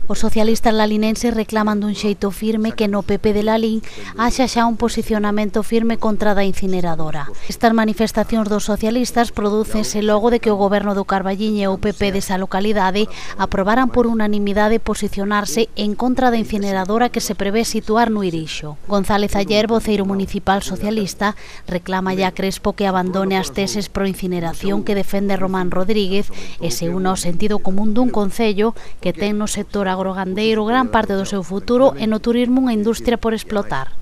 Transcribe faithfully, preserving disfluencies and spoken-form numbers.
Os socialistas lalinenses reclaman dun xeito firme que no P P de Lalín haxa xa un posicionamento firme contra da incineradora. Estas manifestacións dos socialistas prodúcense logo de que o goberno do Carballiño e o P P desa localidade aprobaran por unanimidade posicionarse en contra da incineradora que se prevé situar no Irixo. González Ayer, voceiro municipal socialista, reclama a Crespo que abandone as teses pro incineración que defende Román Rodríguez e se una ao sentido común dun concello que ten no sector agrogandeiro gran parte do seu futuro e no turismo unha industria por explotar.